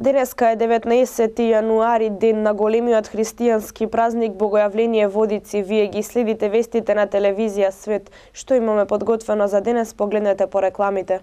Денеска е 19 јануари, ден на големиот христијански празник Богојавление Водици. Вие ги следите вестите на телевизија Свет. Што имаме подготвено за денес, погледнете по рекламите.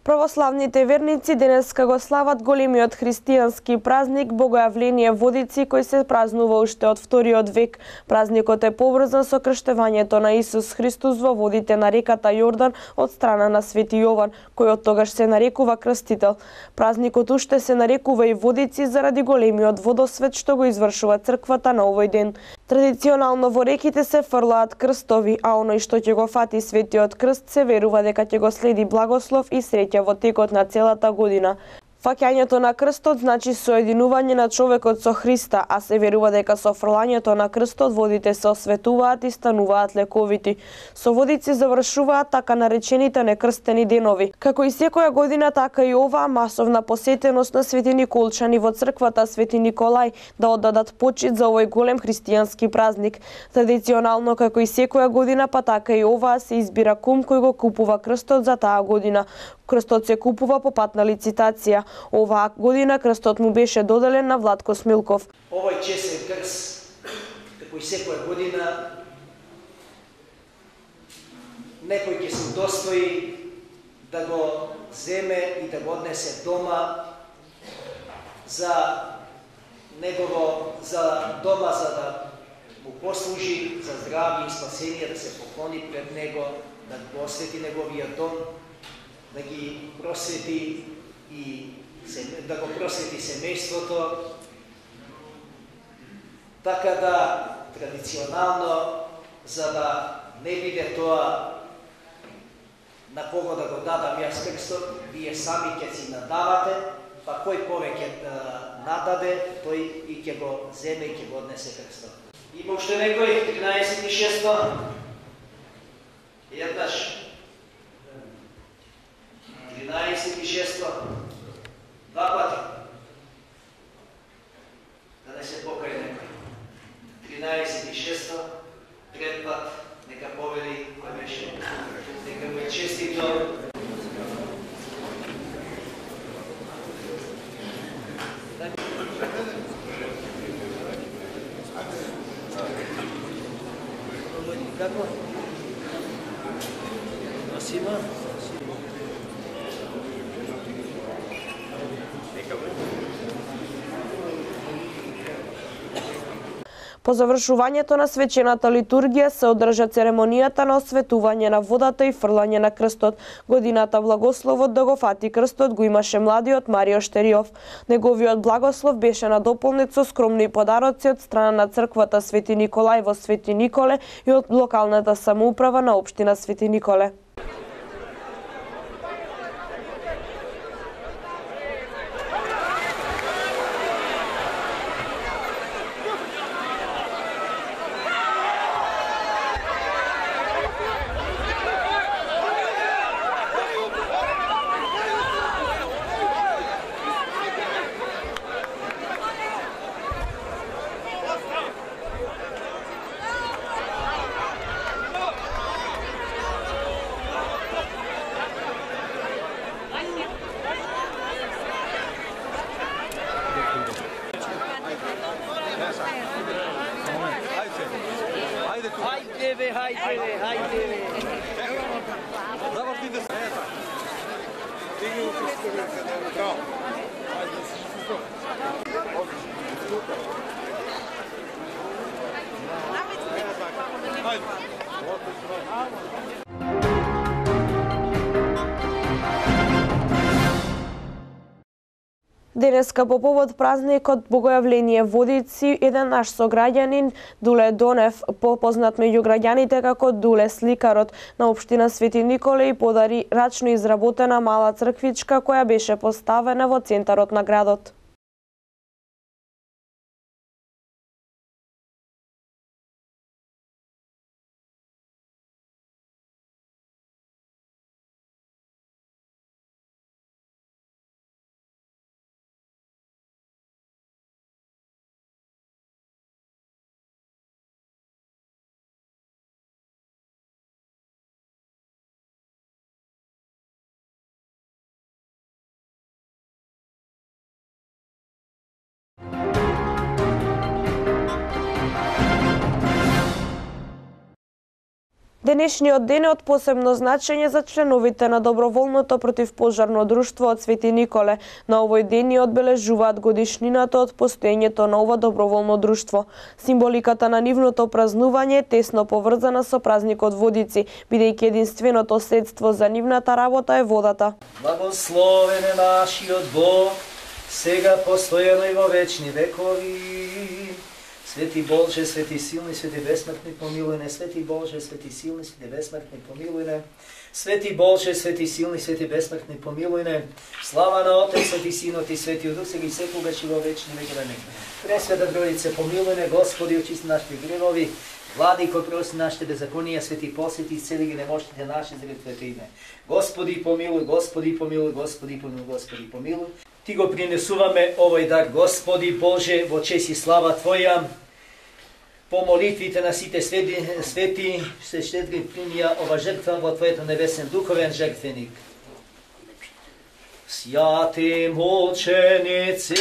Православните верници денеска го слават големиот христијански празник Богојавление Водици, кој се празнува уште од вториот век. Празникот е поврзан со крштевањето на Исус Христос во водите на реката Јордан од страна на Свети Јован, кој од тогаш се нарекува крстител. Празникот уште се нарекува и Водици заради големиот водосвет што го извршува црквата на овој ден. Традиционално во реките се фрлаат крстови, а оној што ќе го фати светиот крст се верува дека ќе го следи благослов и среќа во текот на целата година. Фаќањето на крстот значи соединување на човекот со Христа, а се верува дека со фрлањето на крстот водите се осветуваат и стануваат лековити. Со Водици завршуваат така наречените некрстени денови. Како и секоја година, така и оваа масовна посетеност на свети николчани во црквата Свети Николај да оддадат почит за овој голем христијански празник. Традиционално, како и секоја година, па така и оваа се избира кум кој го купува крстот за таа година. Крстот се купува по пат на лицитација. Оваа година крстот му беше доделен на Владко Смилков. Овој честен крст, како и секоја година, некој ќе се удостои да го земе и да го однесе дома за дома за да му послужи за здравје и спасение, да се поклони пред него, да го освети неговиот дом, да ги просвети и да го просвети семејството, така да традиционално, за да не биде тоа на кого да го дадам јас крстот, вие сами ќе си надавате, па кој повеќе нададе, тој и ќе го земе и ќе го однесе крстот. Има уште некој, 13.6. Еднаш. 13.6. Два пати. Да не се покај некој. 13.6. Трет пат. Нека повели кој беше. Нека му е честито. Како? Носима? По завршувањето на свечената литургија се одржа церемонијата на осветување на водата и фрлање на крстот. Годината благословот да го фати крстот го имаше младиот Марио Штериов. Неговиот благослов беше надополнет со скромни подароци од страна на црквата Свети Николај во Свети Николе и од локалната самоуправа на општина Свети Николе. Денеска по повод празникот Богојавление Водици, еден наш сограѓанин, Дуле Донев, попознат меѓу граѓаните како Дуле сликарот на општина Свети Николе, подари рачно изработена мала црквичка која беше поставена во центарот на градот. Денешниот ден е од посебно значење за членовите на доброволното противпожарно друштво од Свети Николе. На овој ден ни одбележуваат годишнината од постоењето на ова доброволно друштво. Символиката на нивното празнување е тесно поврзана со празникот Водици, бидејќи единственото средство за нивната работа е водата. Благословен е нашиот Бог, сега постојано и во вечни векови. Свети Боже, свети силни, свети бесмртни, помилуј не. Свети Боже, свети силни, свети бесмртни, помилуј не. Свети Боже, свети силни, свети бесмртни, помилуј не. Слава на Отецот и Синот и Светиот Дух, сега и секогаш и во вечни векови. Пресвета Троица, помилуј не, Господи, очисти нашите гревови. Владико, прости нашите беззаконија, свети посвети и цели ги немощите наши заради Твоето име. Господи, помилуј, Господи, помилуј, Господи, помилуј, Господи, помилуј. Ти го принесуваме овој дар, Господи Боже, во чест и слава Твоја. По молитвите на сите свети се щедри примија ова жртва во Твоето небесен духовен жртвеник. Свјати мученици,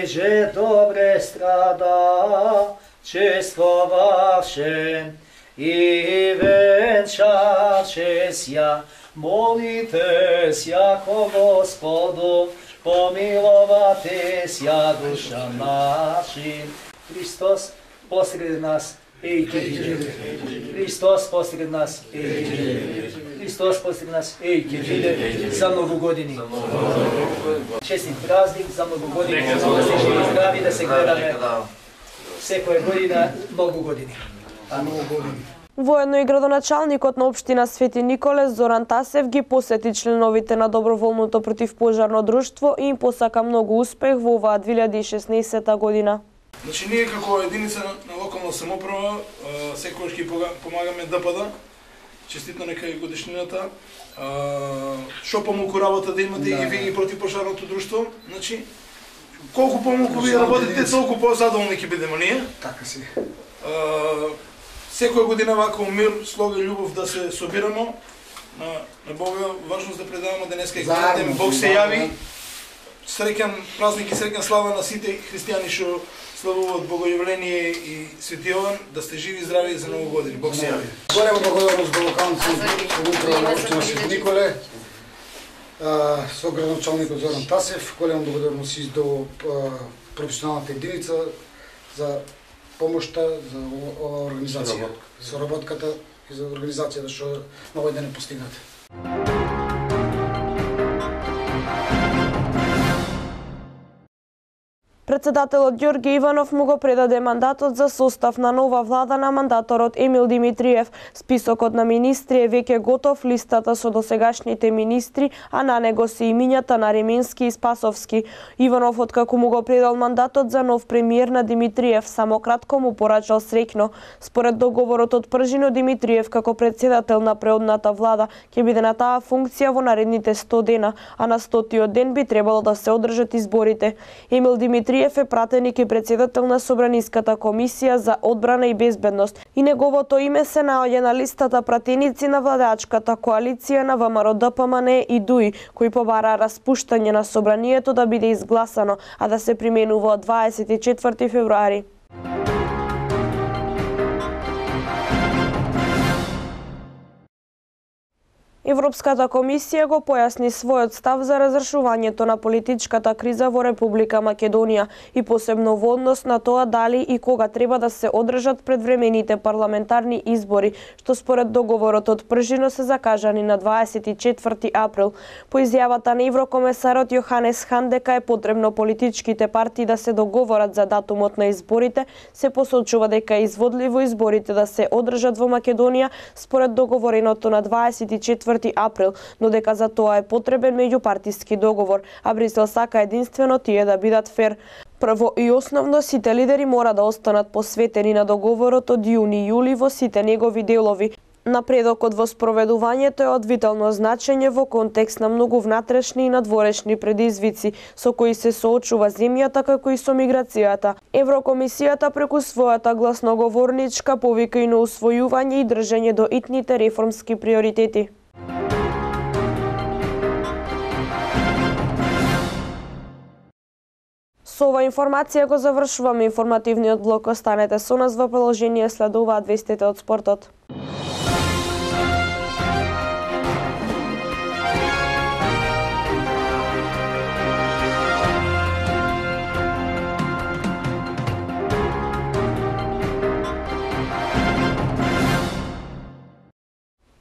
еже добре страда, чествовавше и венчаше сја, молите сја ко Господу, помиловате сја душа наши. Христос посред нас, ејте биде. Христос посред нас, ејте биде. Христос посред нас, ејте биде. За многу години. Честит празник, за многу години. Да се живи здрави, да се гледаме секоја година, многу години. Воедно и градоначалникот на општина Свети Николе Зоран Тасев ги посети членовите на доброволното противпожарно друштво и им посака многу успех во оваа 2016 година. Значи, ние како единица на локална самоуправа секогаш ги помагаме ДПД. Честитно нека и годишнината. Што помалку работа да имате и вие и противпожарното друштво. Значи, колку помалку вие работите, толку по-задоволни ќе бидеме ние. Така си. Секоја година вака мир, слога и љубов да се собираме. На Бога важност да предаваме денеска и ден Бог се јави. Среќен празник и среќна слава на сите христијани што славуваат Богојавление и Свети Јован, да сте живи и здрави за многу години. Бог се јави. Голема благодарност до локалници самоуправа на општина Свети Николе, со градоначалникот Зоран Тасев, голема благодарност и до професионалната единица за помошта за оваа организација, соработката и за организацијата што на овој ден е постигната. Председателот Ѓорѓе Иванов му го предаде мандатот за состав на нова влада на мандаторот Емил Димитриев. Списокот на министри е веќе готов, листата со досегашните министри, а на него се имињата на Ременски и Спасовски. Иванов, откако му го предал мандатот за нов премиер на Димитриев, само кратко му порачал среќно. Според договорот од Пржино, Димитриев како председател на преодната влада ќе биде на таа функција во наредните 100 дена, а на 100-тиот ден би требало да се одржат изборите. Емил Димитриев е пратеник и председател на Собраниската комисија за одбрана и безбедност и неговото име се наоѓа на листата пратеници на владачката коалиција на ВМРО ДПМН и ДУИ, кои побара распуштање на собранието да биде изгласано, а да се применува од 24 февруари. Европската комисија го појасни својот став за разрешувањето на политичката криза во Република Македонија и посебно во однос на тоа дали и кога треба да се одржат предвремените парламентарни избори, што според договорот од Пржино се закажани на 24 април. По изјавата на еврокомесарот Јоханес Хан дека е потребно политичките партии да се договорат за датумот на изборите, се посочува дека е изводливо изборите да се одржат во Македонија според договореното на 24 април, но дека за тоа е потребен меѓупартиски договор, а Брисел сака единствено тие да бидат фер. Прво и основно, сите лидери мора да останат посветени на договорот од јуни-јули во сите негови делови. Напредокот во спроведувањето е од витално значење во контекст на многу внатрешни и надворешни предизвици со кои се соочува земјата, како и со миграцијата. Еврокомисијата преку својата гласноговорничка повика и на усвојување и држење до итните реформски приоритети. Со ова информација го завршуваме информативниот блок. Останете со нас во продолжение, следуваат вестите од спортот.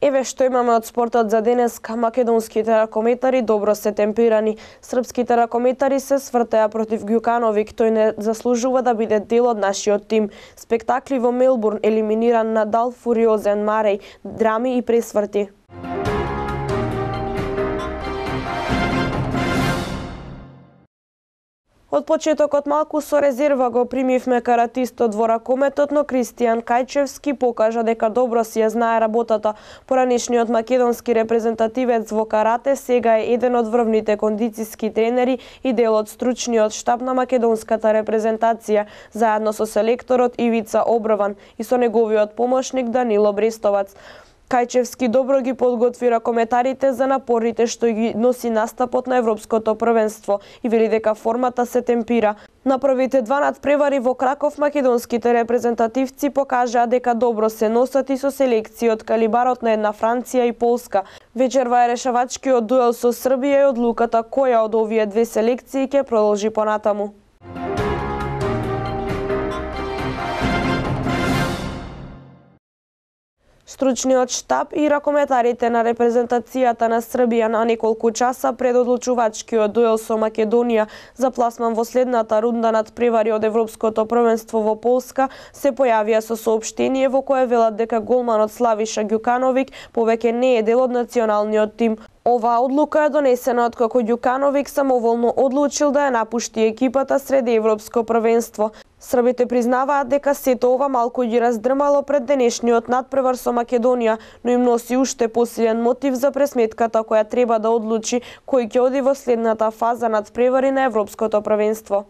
Еве што имаме од спортот за денеска. Македонските ракометари добро се темпирани. Српските ракометари се свртеа против Ѓукановик. Тој не заслужува да биде дел од нашиот тим. Спектакли во Мелбурн, елиминиран Надал, фуриозен Мареј, драми и пресврти. Од почетокот малку со резерва го примивме каратистот во ракометот, но Кристијан Кајчевски покажа дека добро си ја знае работата. Поранешниот македонски репрезентативец во карате сега е еден од врвните кондициски тренери и дел од стручниот штаб на македонската репрезентација, заедно со селекторот Ивица Оброван и со неговиот помошник Данило Брестовац. Кајчевски добро ги подготви ракометарите за напорите што ги носи настапот на Европското првенство и вели дека формата се темпира. На првите два надпревари во Краков македонските репрезентативци покажаа дека добро се носат и со селекција од калибарот на една Франција и Полска. Вечерва е решавачкиот дуел со Србија и одлуката која од овие две селекции ќе продолжи понатаму. Стручниот штаб и ракометарите на репрезентацијата на Србија на неколку часа пред одлучувачкиот дуел со Македонија за пласман во следната рунда надпревари од Европското првенство во Полска се појавија со соопштение во кое велат дека голманот Славиша Ѓукановик повеќе не е дел од националниот тим. Оваа одлука е донесена откако Ѓукановик самоволно одлучил да ја напушти екипата сред Европско првенство. Србите признаваат дека сето ова малку ги раздрмало пред денешниот надпревар со Македонија, но им носи уште посилен мотив за пресметката која треба да одлучи кој ќе оди во следната фаза надпревари на Европското првенство.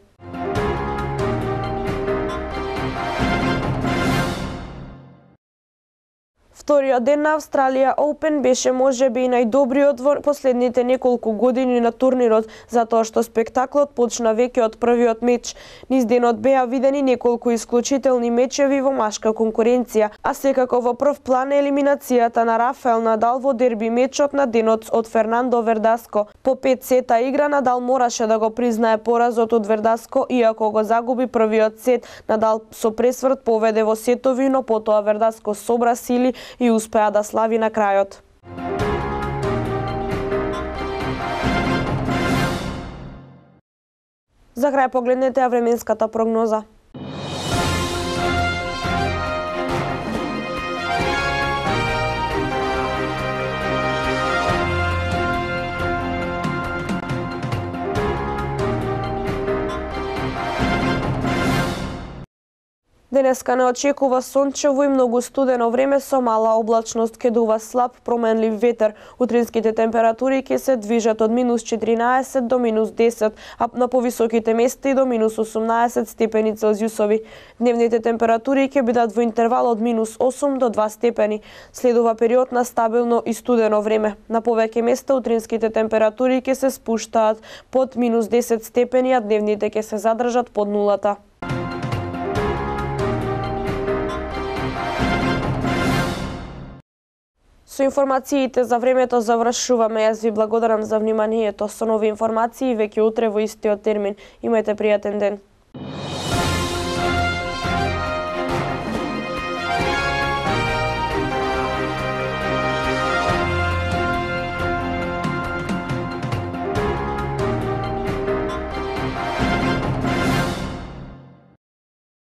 Вториот ден на Австралија Open беше можеби и најдобриот во последните неколку години на турнирот, затоа што спектаклот почна веќе од првиот меч. Низ денот беа видени неколку исклучителни мечеви во машка конкуренција, а секако во прв план е елиминацијата на Рафаел Надал во дерби мечот на денот од Фернандо Вердаско. По 5 сета игра Надал мораше да го признае поразот од Вердаско, иако го загуби првиот сет. Надал со пресврт поведе во сетови, но потоа Вердаско собра сили и успеа да слави на крајот. За крај погледнете ја временската прогноза. Денеска не очекува сончево и многу студено време со мала облачност, ке дува слаб променлив ветер. Утринските температури ќе се движат од -14 до -10, а на повисоките места и до -18 степени Целзиусови. Дневните температури ќе бидат во интервал од -8 до 2 степени. Следува период на стабилно и студено време. На повеќе места утринските температури ќе се спуштаат под -10 степени, а дневните ќе се задржат под нулата. Со информациите за времето завршуваме. Јас ви благодарам за вниманието. Со нови информации веќе утре во истиот термин. Имајте пријатен ден.